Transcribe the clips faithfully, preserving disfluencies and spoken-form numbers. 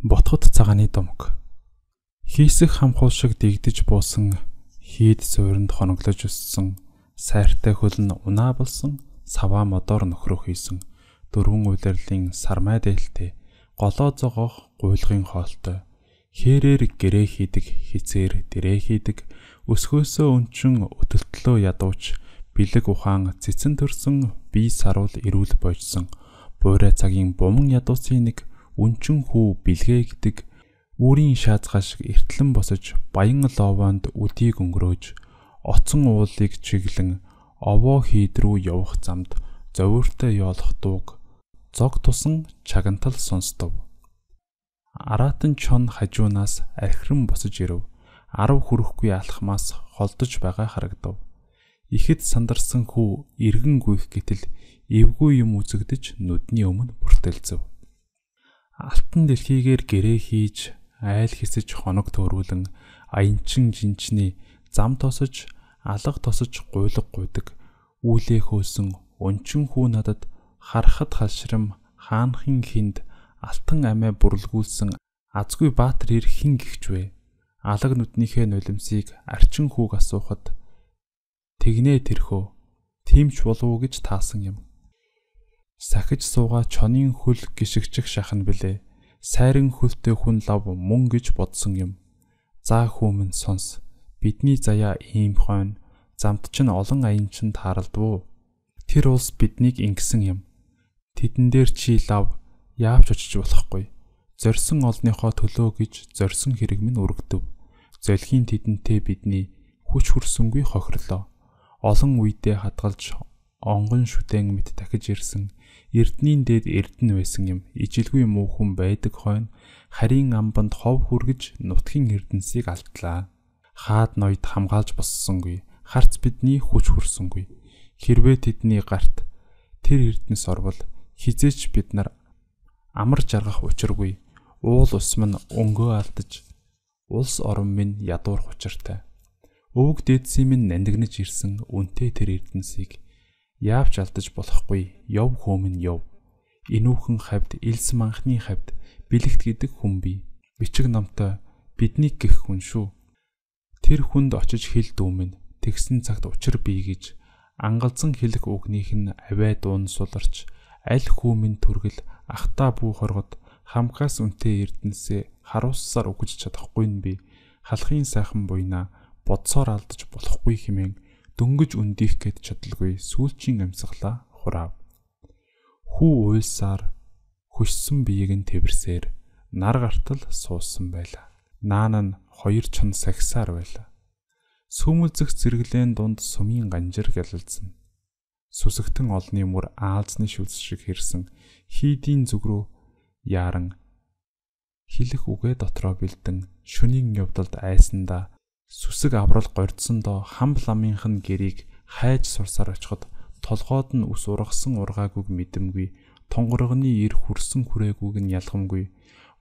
Ботхот цагааны домог. Хийсэх хамхуу шиг дэгдэж буусан, хийд суурьнд хоноглож өссөн, сайртай хөл нь унаа болсон, саваа модоор нөхрөх хийсэн, дөрвөн улирлын сармай дээлтэй, голоо зогоох гуйлгын хоолтой, хээрээр гэрээ хийдэг, хизээр дэрээ хийдэг, өсгөөсөө өнчин өтөлтлөө ядууч, бэлэг ухаан цэцэн төрсөн, бие саруул эрүүл бойжсон, буурай цагийн буман ядуусын нэг, өнчин хүү бэлгээ гэдэг, үүрийн шаазгаа шиг эртлэн босож, баян ловоонд үдийг өнгөрөөж, оцон уулыг чиглэн, овоо хийд рүү явах замд, зовиортой ёолох дууг, зог тусан чагантал сонстов. Аратан чон хажуунаас архиран босож ирэв, арав хүрэхгүй алхмаас холдож байгаа харагдав. Ихэд сандарсан хүү эргэн гүйх гэтэл, эвгүй юм үзэгдэж нүдний өмнө бүртэлцэв. Алтан дэлхийгээр гэрээ хийж, айл хэсэж хоног төрүүлэн, аянчин жинчний зам тосож, алга тосож гуйлг гуйдаг, үүлээ хөөсөн өнчин хүү надад харахад халшрам хаанхын хинд алтан амиа бүрлгүүлсэн азгүй баатар ир хин гихчвэ. Алаг нүднийхээ нулимсыг арчин хүүг асуухад тэгнэ тэрхөө тиймч болов уу гэж таасан юм. Сахиж суугаа чонын хөл гიშгчих шахан билээ. Сайран хөлтэй хүн лав мөн гэж бодсон юм. За хүмүн сонс. Бидний заяа ийм хойно, замт чинь олон аянчин тааралдвуу. Тэр улс биднийг ингэсэн юм. Тэдэн дээр чи лав яавч очиж болохгүй. Зорьсон олныхоо төлөө гэж зорьсон хэрэг минь өргөдөв. Золхийн тэдэнтэй бидний хүч хүрсэнгүй хохирлоо. Олон үедээ хадгалж онгон шүтэн мэт дахиж ирсэн. Эрднийн дээд эрдэн байсан юм. Ижилгүй муухан байдаг хойно харийн амбанд хов хүргэж нутгийн эрдэнсийг алдлаа. Хаад ноёд хамгаалж боссонгүй. Харц бидний хүч хүрсэнгүй. Хэрвээ тэдний гарт тэр эрдэнэс орвол хизээч бид нар амар жаргах учиргүй. Уул усман өнгөө алдаж улс орон минь ядуурх учиртай. Өвөг дээдсийн минь нандинаж ирсэн үнтэй тэр эрдэнсийг яавч алдаж болохгүй. Яв хөөмн яв. Инүүхэн хавьд элс манхны хавьд бэлэгт гэдэг хүн бий. Бичиг номтой биднийг гэх хүн шүү. Тэр хүнд очиж хэл дүүмэн тэгсэн цагт учир бий гэж ангалзан хэлэх үгнийх нь авай дуун суларч аль хүмүн түргэл ахта бүү хоргод хамкаас үнтэй эрдэнсээ харуулсаар үгэж чадахгүй нь би халахын сайхан буйнаа бодсоор алдаж болохгүй хэмээн дөнгөж үндих гэд чадалгүй сүүлчийн амьсгалаа хураав. Хүү уйлсаар хөшсөн биеийг нь тэрсээр нар гартал суусан байла. Наан нь хоёр чон сагсаар байла. Сүмэлзэх зэрэглэн дунд сумын ганжир гялалзсан. Сүсэгтэн олны мөр аалзны шүлс шиг хэрсэн хийдийн зүг рүү яран хилэх үгээ дотроо бэлдэн шөнийн явдалд айсандаа сүсэг аврал гордсондоо хам ламынх нь гэрийг хайж сурсаар очиход толгойд нь ус ургасан ургаагүйг мэдэмгүй тонгоргоны ир хүрсэн хүрээгүйг нь ялгамгүй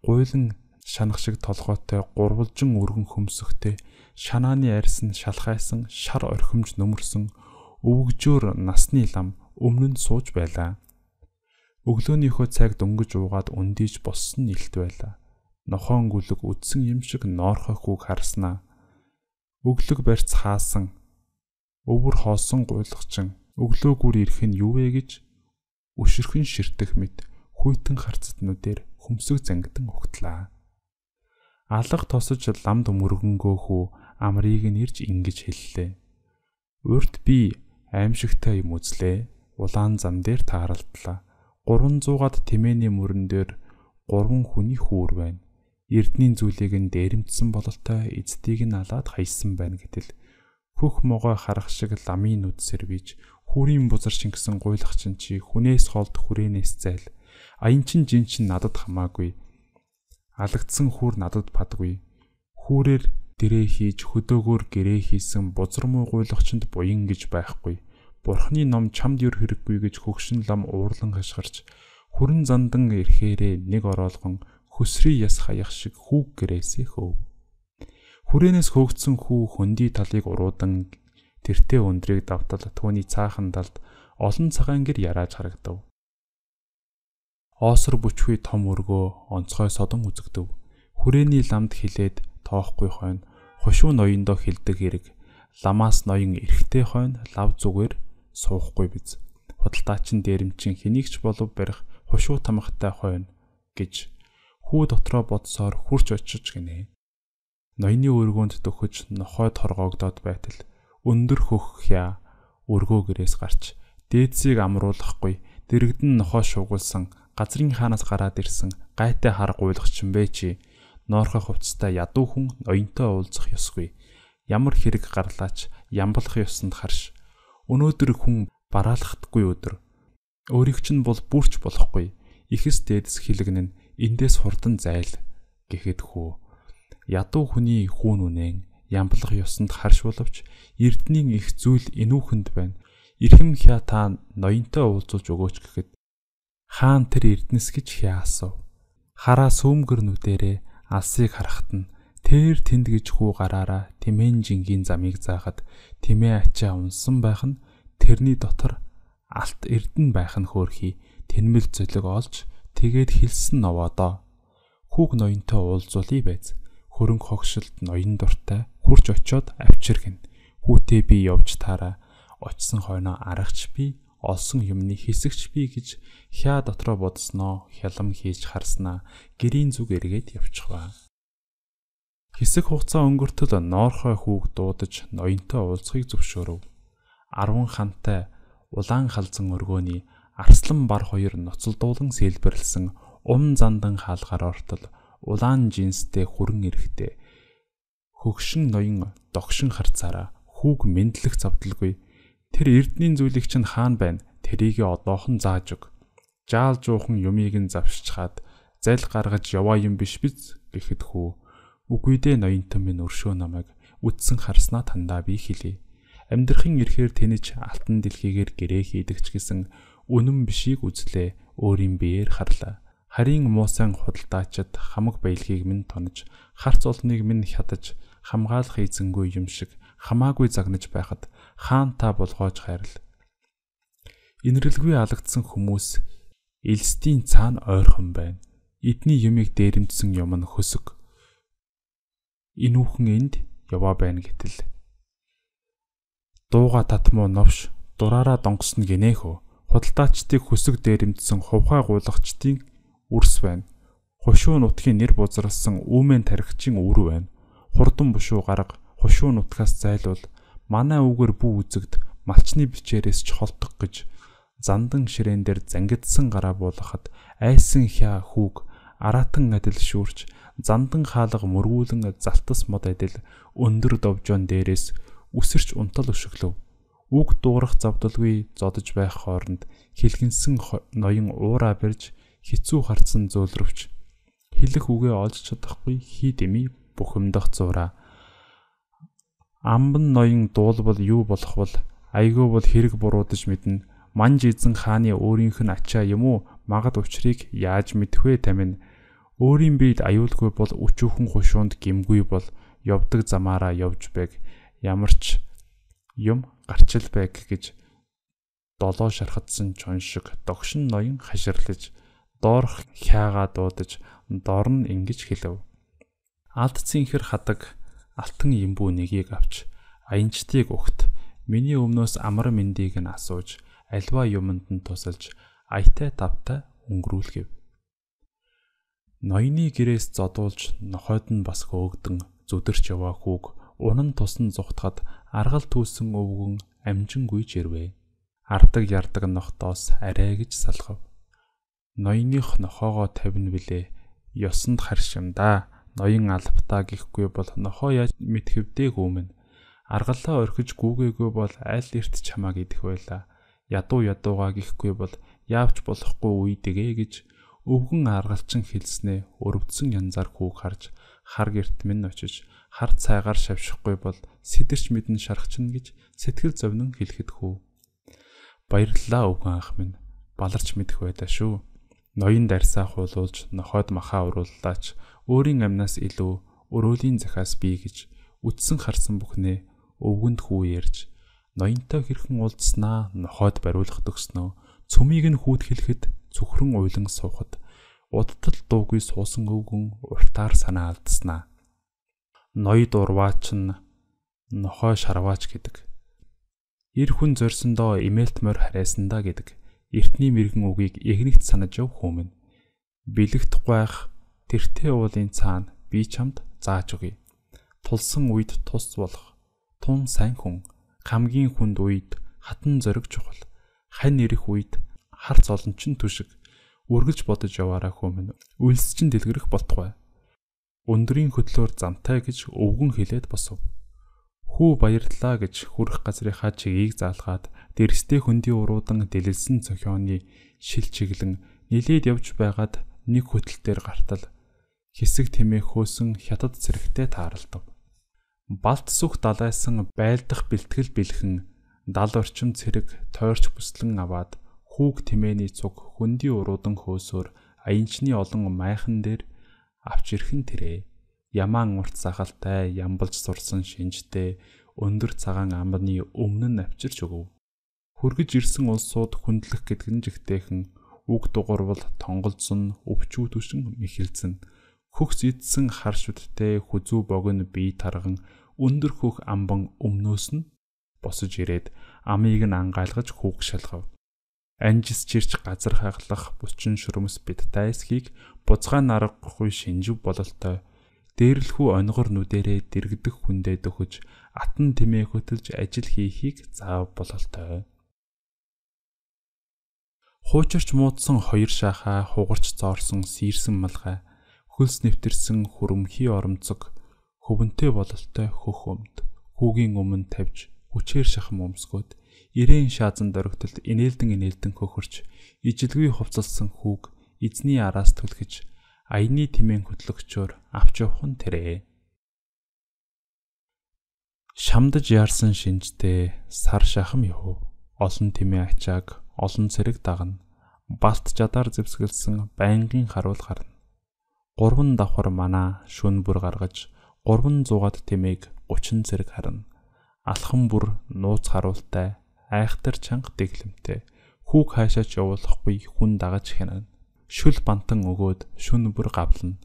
гуйлан шанах шиг толгойтой гурвалжин өргөн хөмсөхтэй шанааны арьс нь шалхайсан шар орхимж нөмөрсөн өвгжөөр насны лам өмнө нь сууж байлаа. Өглөөнийхөө цаг дөнгөж уугаад өндийж боссон илт байлаа. Нохоон гүлэг үдсэн юм шиг ноорхой хүүг харснаа. Өглөг барьц хаасан. Өвөр хоосон гуйлгачин. Өглөөгүр ирэх нь юу вэ гэж өшөрхөн ширтэх мэт хүйтэн харцтнуудээр хөмсөг зангидан угтлаа. Алга тосож ламд мөргөнгөө хүү амрыг нь ирж ингэж хэллээ. Урд би аимшигтай юм үзлээ. Улаан зам дээр тааралдлаа. гурван зуугаад тэмээний мөрөн дээр гурван хүний хүүр байна. Эрдний зүйлийг нь дээрэмдсэн бололтой эцдийг нь алаад хайсан байна гэтэл хөх могой харах шиг ламын нүд сэрвиж хүүрийн бузар шингэсэн гуйлахчин чи хүнээс холд хүрээнээс зайл. Аянчин жинчин надад хамаагүй. Алагдсан хүүр надад падгүй. Хүүрээр дэрээ хийж хөдөөгөөр гэрээ хийсэн бузар муу гуйлахчинд буян гэж байхгүй. Бурхны ном чамд юр хэрэггүй гэж хөгшин лам уурлан хашгирч хүрэн зандан ирэхээрээ нэг ороолгон хөсрий яс хаях шиг хүүг гэрээсээ хөөв. Хүрээнээс хөөгдсөн хүү хөндөй талыг уруудан тэртээ өндрийг давтал түүний цаахан талд олон цагаан гэр ярааж харагдав. Оосор бүчгүй том өргөө онцгой содон үзэгдэв. Хүрээний ламд хилээд тоохгүй хойно хошуу ноёндоо хилдэг хэрэг. Ламаас ноён эрэхтэй хойно лав зүгээр суухгүй биз. Худалдаачин дээрэмчин хэнийгч болов барих хошуу тамхтай хойно гэж хүү дотроо бодсоор хурч очиж гинэ. Ноёны өргөөнд дөхөж нохойд хоргоогдоод байтал өндөр хөх хя өргөө гэрээс гарч дээдсийг амруулахгүй дэрэгдэн нохоо шуугуулсан газрын хаанаас гараад ирсэн гайтай хар гуйлагч юм бэ чи ноорхой хувцастай ядуу хүн ноёнтой уулзах ёсгүй. Ямар хэрэг гарлаач ямблах ёсонд харш. Өнөөдөр хүн бараалхдаггүй өдөр. Өөрийг чинь бол бүрч болохгүй. Ихэс дээдэс хилэгнэн эндээс хурдан зайл гэхэд хүү. Ядуу хүний хүүн үнэн ямблах ёсонд харш боловч эрдэнийн их зүйл энүүхэнд байна. Ирхэм хя та ноёнтой уулзуулж өгөөч гэхэд хаан тэр эрдэнэс гэж хя асуув. Хараа сөөмгөр нүдэрээ алсыг харахад нь тэр тэнд гэж хүү гараараа тэмээн жингийн замыг заахад тэмээ ачаа унсан байх нь тэрний дотор алт эрдэн байх нь хөөрхий тэнмэл зөлөг олж тэгээд хилсэн новоодоо. Хүүг ноёнтой уулзуулъя байз. Хөрөнгө хогшилт ноён дуртай хурч очиод авчиргэн. Хүүтэй би явж таараа очсон хойноо аргач би олсон юмны хэсэгч би гэж хя дотроо бодсноо хялам хийж харснаа гэрийн зүг эргээд явчихваа. Хэсэг хугацаа өнгөртөл ноорхой хүүг дуудаж ноёнтой уулзахыг зөвшөөрөв. Арван хантай улаан халзан өргөөний арслан бар хоёр ноцолдуулан сэлбэрлсэн ум зандан хаалгаар ортол улаан жинстэй хүрэн эрэхтэй хөгшин ноён догшин харцаараа хүүг мэдлэх завдалгүй. Тэр эрдэнийн зүйлийг чинь хаан байна. Тэрийг одоохон зааж өг. Жаал жуухан юмыг нь завшичхаад зал гаргаж яваа юм биш биз гэхэд хүү. Үгүй дээ ноёнтон минь өршөө намайг үтсэн харснаа тандаа би хэлье. Амьдрахын ирэхээр тэнэж алтан дэлхийгээр гэрээ хийдэгч гэсэн үнэн бишийг үзлээ. Өөрийн биеэр харлаа. Харийн муусан худалдаачид хамаг баялгийг минь тонож, харц олныг минь хядаж, хамгаалах эзэнгүй юм шиг хамаагүй загнаж байхад хаан та болгоож хайрл. Инэрлгүй алагдсан хүмүүс элстийн цаана ойрхон байна. Эдний юмыг дээрэмдсэн юм нь хөсөг. Инүүхэн энд яваа байна гэтэл. Дууга татмуу новш дураараа донгосно гинэхөө. Худалдаачдыг хөсөг дээрэмдсэн хувхай гуйлагчдын үрс байна. Хошуу нутгийн нэр бузралсан үүмэн тархичийн үр байна. Хурдан бушуу гарга хошуу нутгаас зайлуул манай үгээр бүү үзэгд малчны бичээрээс ч холдох гэж зандан ширээн дээр зангидсан гараа буулгахад айсан хя хүүг аратан адил шүүрч зандан хаалга мөргүүлэн залтас мод адил өндөр довжоон дээрээс үсэрч унтал өшөглөв. Үг дуурах завдалгүй зодож байх хооронд хилгэнсэн ноён уураа барьж хитцүү харцсан зөөлрөвч хэлэх үгээ олж чадахгүй хий дэмий бухимдах зураа. Амбан ноён дуулбал юу болох бол айгүй бол хэрэг буруудаж мэднэ. Манж эзэн хааны өөрийнх нь ачаа юм уу магад учрыг яаж мэдвэ тамин. Өөрийн биед аюулгүй бол өчүүхэн хушуунд гимгүй бол явдаг замаараа явж байг. Ямарч юм гарчил байг гэж долоо шархадсан чон шиг догшин ноён хаширлаж доорх хяагаа дуудаж доор нь ингэж хэлв. Алдцын хэр хадаг алтан имбүү нэгийг авч аянчдыг өгт миний өмнөөс амар мэндийг нь асууж альва юмд нь тусалж аятай тавтай өнгөрүүлгэв. Ноёны гэрээс зодуулж нохойд нь бас хөөгдөн зүдэрч яваа хүүг унан тусан зүхтахад аргал түүсэн өвгөн амжингүй жирвэ. Ардаг ярдаг нохтоос арай гэж салгав. Ноёных нохоогоо тавина билээ. Ёсонд харшимдаа. Ноён албатаа гихгүй бол нохоо яаж мэдхэвдэг өмнө. Аргалаа орхиж гүүгээгүй бол аль эрт чамааг идэх байла. Ядуу ядуугаа гихгүй бол яавч болохгүй үйдэгэ гэж өвгөн аргалчин хэлснээ өрөвдсөн янзаар хүүг харж хар герт минь очиж хар цайгаар шавшихгүй бол сэтэрч мэдэн шархчин гэж сэтгэл зовнон хэлэхэд хүү. Баярлалаа өвгөн ах минь. Баларч мэдэх байлаа шүү. Ноён дарсаа хуулуулж нохойд махаа урууллаач өөрийн амнаас илүү өрөөлийн захаас бий гэж үтсэн харсан бүхнээ өвгөнд хүү ярьж ноёнтой хэрхэн уулзснаа нохойд бариулах төгснөө цөмийг нь хүүд хэлэхэд цөхрөн уйлан суухад удтал дуугүй суусан өвгөн уртаар санаа алдаснаа. Ноёд урваач нь нохой шарваач гэдэг. Ир хүн зорьсондоо имэлт морь харайсандаа гэдэг. Эртний мэрэгэн үгийг эгнэгт санаж яв хүмүн. Бэлэгт гуйх тэртээ уулын цаана би чамд зааж өгье. Тулсан үед тус болох тун сайн хүн, хамгийн хүнд үед хатан зориг чухал. Хань ирэх үед харц олончин түшиг үргэлж бодож яваараа хүмүн. Үйлс чин дэлгэрэх болтугай. Өндрийн хөтлөөр замтай гэж өвгөн хэлээд босов. Хүү баярлалаа гэж хүрэх газрынхаа чигийг заалгаад дэрстэй хөндий уруудан дэлэлсэн цохионы шил чиглэн нилээд явж байгаад нэг хөтөлтөөр гартал хэсэг тэмээ хөөсөн хятад цэрэгтэй тааралдав. Балт сүх далайсан байлдах бэлтгэл бэлхэн дал орчим цэрэг тойрч бүслэн аваад хүүг тэмээний цуг хөндий уруудан хөөсөөр аянчны олон майхан дээр авч ирхэн тэрэ. Ямаан урт сахалтай ямбалж сурсан шинжтэй өндөр цагаан амбаны өмнө нь авчирч өгөв. Хөргөж ирсэн улсууд хүндлэх гэдгэн жигтэйхэн үг дугуурвал тонголзсон өвчүү түшин мэхэлцэн хөхс идсэн хар шүттэй хүзүү богино бие тарган өндөр хөх амбан өмнөөс нь босож ирээд амийг нь ангайлгаж хүүг шалгав. Анжис чирч газар хаглах бучин шүрмэс бит дайсхийг буцгаан аргагүй шинжив бололтой дээрлэхүү онгор нүдэрээ дэргдэх хүндээ дөхөж атан тэмээ хөтөлж ажил хийхийг заав бололтой. Хуучирч муудсан хоёр шахаа хугарч зоорсон сийрсэн малгай хөлс нэвтэрсэн хөрөмхий оромцог хөвөнтэй бололтой хөх өмд хүүгийн өмнө тавьж хүчээр шахам өмсгөөд ирээн шаазан дөрөгтөлд инээлдэн инээлдэн хөхөрч ижилгүй хувцалсан хүүг эзний араас түлхэж аяны тэмээн хөтлөгчөөр авч явах нь тэрэ. Шамдаж яарсан шинжтэй сар шахам яв. Олон тэмээ ачааг олон цэрэг дагна. Балт жадаар зэвсгэлсэн байнгын харуул гарна. Гурван давхар манаа шүн бүр гаргаж гурван зугаад тэмээг гучин цэрэг харна. Алхан бүр нууц харуултай айхтар чанга дэглэмтэй хүүг хаашаач явуулахгүй хүн дагаж хянана. Шүл бантан өгөөд шүн бүр гавлна.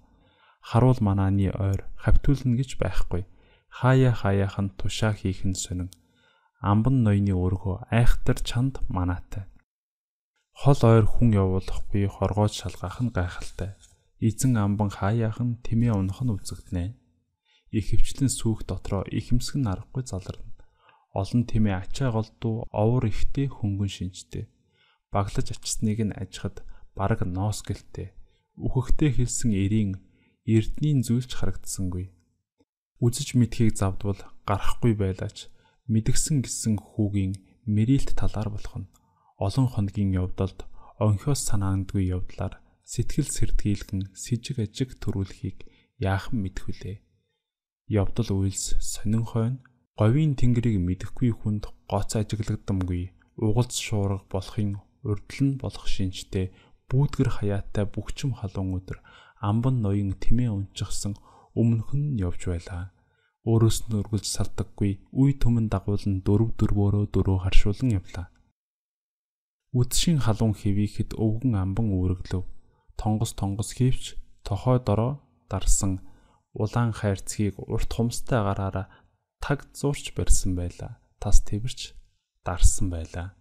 Харуул манааны ойр хавтуулна гэж байхгүй. Хаяа хаяахан тушаа хийх нь сонин. Амбан ноёны өргөө айхтар чанд манаатай. Хол ойр хүн явуулахгүй хоргоож шалгаах нь гайхалтай. Эзэн амбан хаяахан тэмээ унах нь үзэгдэнэ. Ихэвчлэн сүүх дотроо ихэмсэг нь аргагүй заларна. Олон тэмээ ачаа голдуу овор ихтэй хөнгөн шинжтэй. Баглаж ачсныг нь ажихад бараг ноос гэлтэй. Үхэгтэй хэлсэн эрийн эрдний зүйлч харагдсангүй. Үзэж мэдхийг завдвал гарахгүй байлаач мэдгсэн гисэн хүүгийн мэрилт талаар болох нь. Олон хоногийн явдалд онхиос санаандгүй явдлаар сэтгэл сэрдгийлгэн сэжиг ажиг төрүүлэхийг яахан мэдхүлээ. Явдал үйлс сонин хойно говийн тэнгэрийг мэдэхгүй хүнд гоц ажиглагдамгүй угалц шуурга болохын урдл нь болох шинжтэй бүүдгэр хаяатай бүгчм халуун өдөр амбан ноён тэмээ унчихсан өмнөх нь явж байлаа. Өөрөөс нь өргөлж салдаггүй үе төмөн дагуулн дөрв дөрвөөрөө дөрөв харшуулан явлаа. Үдшийн халуун хэвийхэд өвгөн амбан үүрэглөв. Тонгос тонгос хийвч тохой дороо дарсан улаан хайрцгийг урт хумстай гараараа таг зуурч барьсан байлаа. Тас твэрч дарсан байлаа.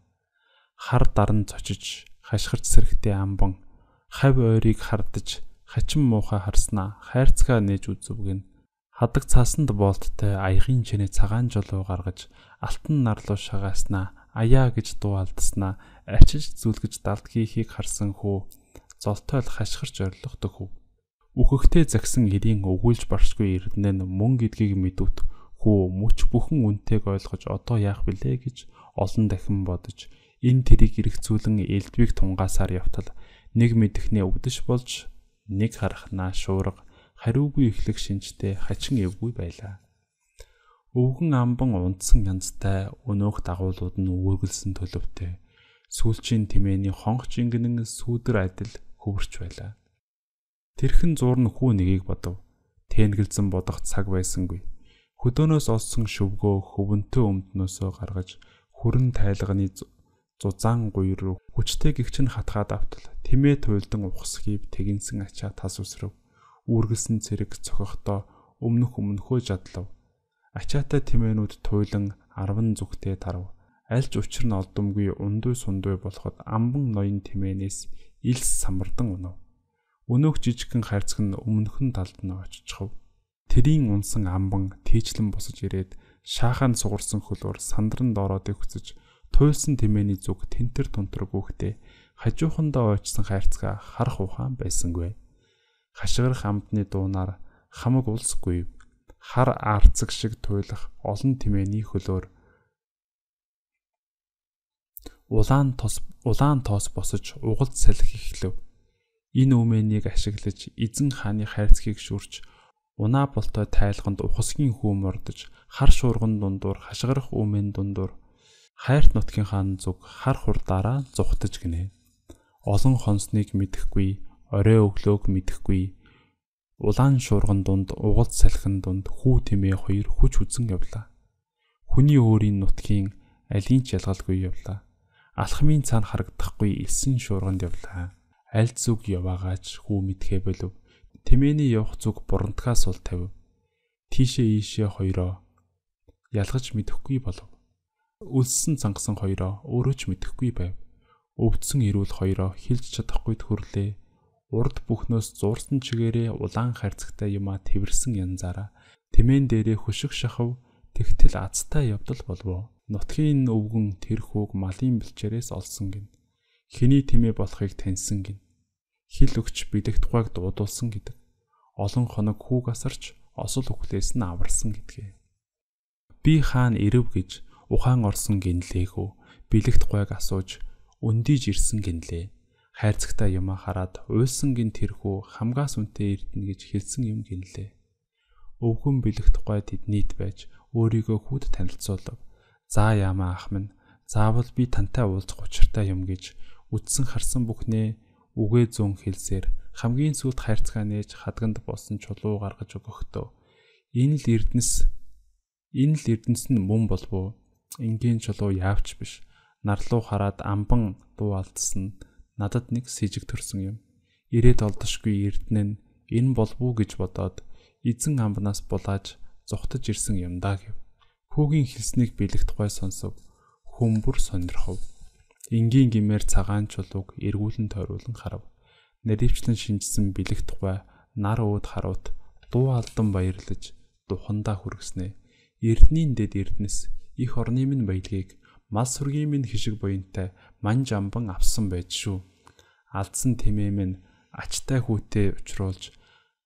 Хар даран цочиж хашгирч сэрхтэй амбан хавь ойрыг хардаж хачин муухай харснаа хайрцгаа нээж үзвгэн хадаг цаасанд болттой аягийн чинээ цагаан жолоо гаргаж алтан нарлуу шагааснаа аяа гэж дуу алдаснаа арчиж зүлгэж далд хийхийг харсан хүү золтойл хашгирч орлох дөхөв. Үхэгтэй загсан ирийн өгүүлж баршгүй эрдэнэ мөн гэдгийг мэдвэт хүү мөч бүхэн үнтэйг ойлгож одоо яах билээ гэж олон дахин бодож энэ тэрийг эргцүүлэн элдвийг тунгаасаар явтал нэг мэдэхнээ өгдөж болж нэг харахнаа шуурга хариугүй эхлэх шинжтэй хачин эвгүй байлаа. Өвгөн амбан унтсан янзтай өнөөх дагуулууд нь үүргэлсэн төлөвтэй сүүлчийн тэмээний хонх жингэнэн сүүдэр адил хөвөрч байлаа. Тэрхэн зуурн хүү нэгийг бодов. Тэнгэлзэн бодох цаг байсангүй. Хөдөөнөөс олсон шөвгөө хөвөнтөө өмднөөсөө гаргаж хүрэн тайлганы зузаан гуйр руу хүчтэй гихчин хатгаад автал тэмээ туйлдан ухсхийв тэгинсэн ачаа тас үсрэв. Үүргэлсэн цэрэг цохихдоо өмнөх өмнөхөө жадлав. Ачаатай тэмээнүүд туйлан арван зүгтээ тарав. Альж учир нь олдомгүй ундуй сундуй болоход амбан ноён тэмээнээс илс самардан унав. Өнөөх жижигхэн хайрцаг нь өмнөхөн талд нь очичхав. Тэрийн унсан амбан тийчлэн босож ирээд шаахан сугарсан хөлөөр сандран доороод өгцөж туйлсан тэмээний зүг тентэр тунтар гүөхтэй хажуухандаа очсон хайрцгаа харах ухаан байсангүй. Хашгирах амтны дуунаар хамаг улсгүй хар арцаг шиг туйлах олон тэмээний хөлөөр улаан тос улаан тоос босож угалд салхи эхлэв. Энэ үмэнийг ашиглаж эзэн хааны хайрцгийг шүрч унаа болтой тайлганд ухасгийн хүүм ордож хар шуурган дундуур хашгирах үмэн дундуур хайрт нутгийн хаан зүг хар хурдаараа зүхтэж гинэ. Олон хонсныг мэдэхгүй, орой өглөөг мэдэхгүй. Улаан шуурган дунд угалд салхин дунд хүү тэмээ хоёр хүч үзэн явлаа. Хүний өөрийн нутгийн алийн ч ялгалгүй явлаа. Алхмын цаана харагдахгүй элсэн шуурганд явлаа. Аль зүг яваагач хүү мэдхээ болов. Тэмээний явах зүг бурантгаас сул тавив. Тийшээ ийшээ хоёроо ялгаж мэдэхгүй болов. Үлссэн цангасан хоёроо өөрөө ч мэдэхгүй байв. Өвдсөн ирүүл хоёроо хилж чадахгүй төрлөө. Урд бүхнөөс зуурсан чигээрээ улаан хайрцагтай юмаа тэрсэн янзаараа тэмээн дээрээ хөшиг шахав тэгтэл азтай явдал болов. Нутгийн өвгөн тэр хүүг малын бэлчээрээс олсон гин. Хэний тэмээ болохыг таньсан гин. Хил өгч бидэх тухайг дуудулсан гэдэг. Олон хоног хүүг асарч осол үхлээс нь аварсан гэдгээ. Би хаан ирэв гэж ухаан орсон гинлээгүү бэлэгт гойг асууж өндийж ирсэн гинлээ. Хайрцагтай юмаа хараад уйлсан гин тэрхүү хамгаас үнтэй эрдэнэ гэж хэлсэн юм гинлээ. Өвгөн бэлэгт гой тэднийд байж өөрийгөө хүүд танилцуулав. За яамаа ах минь, заавал би тантай уулзах учиртай юм гэж үдсэн харсан бүхнээ үгээ зүүн хэлсээр хамгийн сүүлд хайрцгаа нээж хадганд босон чулуу гаргаж өгөхдөө энэ л эрдэнэс энэ л эрдэнэс нь мөн болов. Ингийн чулуу яавч биш. Нарлуу хараад амбан дуу алдсан надад нэг сэжиг төрсөн юм. Ирээд олдошгүй эрдэнэ нь энэ болов уу гэж бодоод эзэн амбанаас булааж зүхтэж ирсэн юм даа гэв. Хүүгийн хэлснийг бэлэгт гой сонсов. Хүмбэр сонирхов. Энгийн гимээр цагаан чулууг эргүүлэн тойруулан харав. Наривчлан шинжсэн бэлэгт гой нар ууд харуут дуу алдан баярлаж духандаа хүргэснэ. Эрдэнийн дэд эрдэнэс их орны минь баялгийг мал сүргийн минь хишиг буянтай манж амбан авсан байж шүү. Алдсан тэмээ минь ачтай хүүтэй учруулж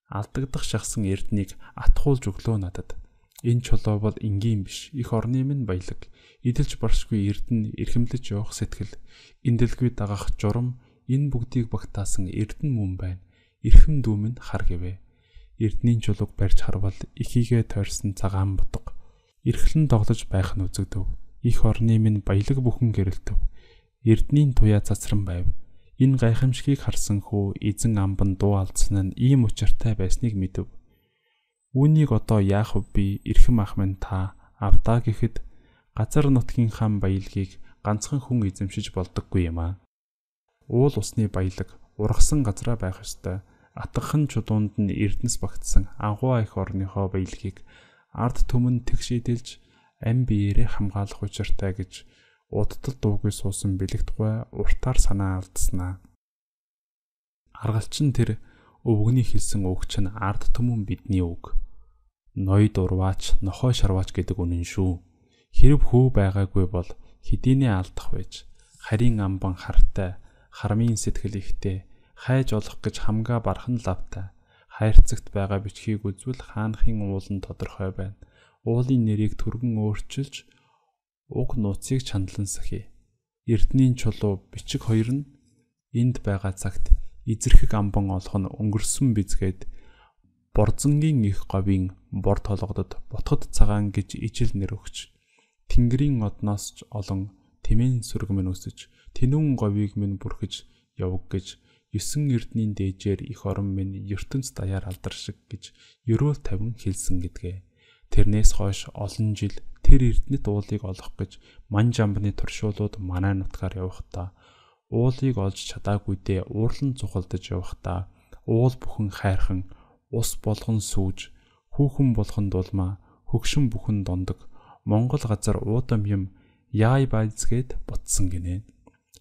алдагдах шахсан эрднийг атхуулж өглөө надад. Энэ чулуу бол энгийн биш. Их орны минь баялаг. Идэлж баршгүй эрдэнэ эрхэмлэж явах сэтгэл. Эндэлгүй дагах журам энэ бүгдийг багтаасан эрдэнэ мөн байна. Эрхэм дүү минь хар гэвэ. Эрдэнийн чулууг барьж харвал ихийгээ тойрсон цагаан бутга. Эрхлэн тоглож байх нь үзэгдэв. Их орны минь баялаг бүхэн гэрэлтэв. Эрдэнийн туяа цацран байв. Энэ гайхамшигыг харсан хүү эзэн амбан дуу алдсан нь ийм учиртай байсныг мэдэв. Үүнийг одоо яах вэ би эрхэм ах минь та авдаа гэхэд газар нутгийн хаан баялгийг ганцхан хүн эзэмшиж болдоггүй юм аа. Уул усны баялаг ургасан газараа байх ёстой. Атгахан чулуунд нь эрдэнэс багтсан анхуу их орныхоо баялгийг ард түмэн тэгшидэлж ам биеэрээ хамгаалах учиртай гэж удтал дуугүй суусан бэлэгт гой уртаар санаа алдснаа. Аргалчин тэр өвгөний хэлсэн үг чинь ард түмэн бидний үг. Ноёд урваач, нохой шарваач гэдэг үнэн шүү. Хэрв хөө байгаагүй бол хэдийнэ алдах байж. Харийн амбан хартай, хармын сэтгэл ихтэй, хайж олох гэж хамгаа бархан лавтай. Хайрцагт байгаа бичгийг үзвэл хаанхын уулан тодорхой байна. Уулын нэрийг түргэн өөрчилж уг нууцыг чандлан сахи. Эрдэнийн чулуу бичиг хоёр нь энд байгаа цагт эзэрхэг амбан олох нь өнгөрсөн бизгээд борзонгийн их говийн бор толгодод ботход цагаан гэж ижил нэр өгч тэнгэрийн одноос ч олон тэмээн сүрэг минь үсэж тэнүүн говийг минь бүрхэж явг гэж есөн эрдэнийн дээжээр их орон минь ертөнц даяар алдар шиг гэж ерөөл тавин хэлсэн гэдгээ. Тэрнээс хойш олон жил тэр эрдэнэт уулыг олох гэж Манж амбны туршуулууд манай нутгаар явахдаа уулыг олж чадаагүйдээ уурлан цухалдаж явахдаа уул бүхэн хайрхан, ус болгон сүүж, хүүхэн болгон дулмаа, хөгшин бүхэн дондог, Монгол газар уудам юм яй байцгээд ботсон гинэ.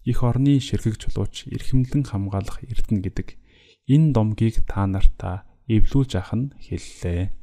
Их орны ширхэг чулууч эрхэмлэн хамгаалах эрдэнэ гэдэг энэ домгийг та нартаа эвлүүлж ах нь хэллээ.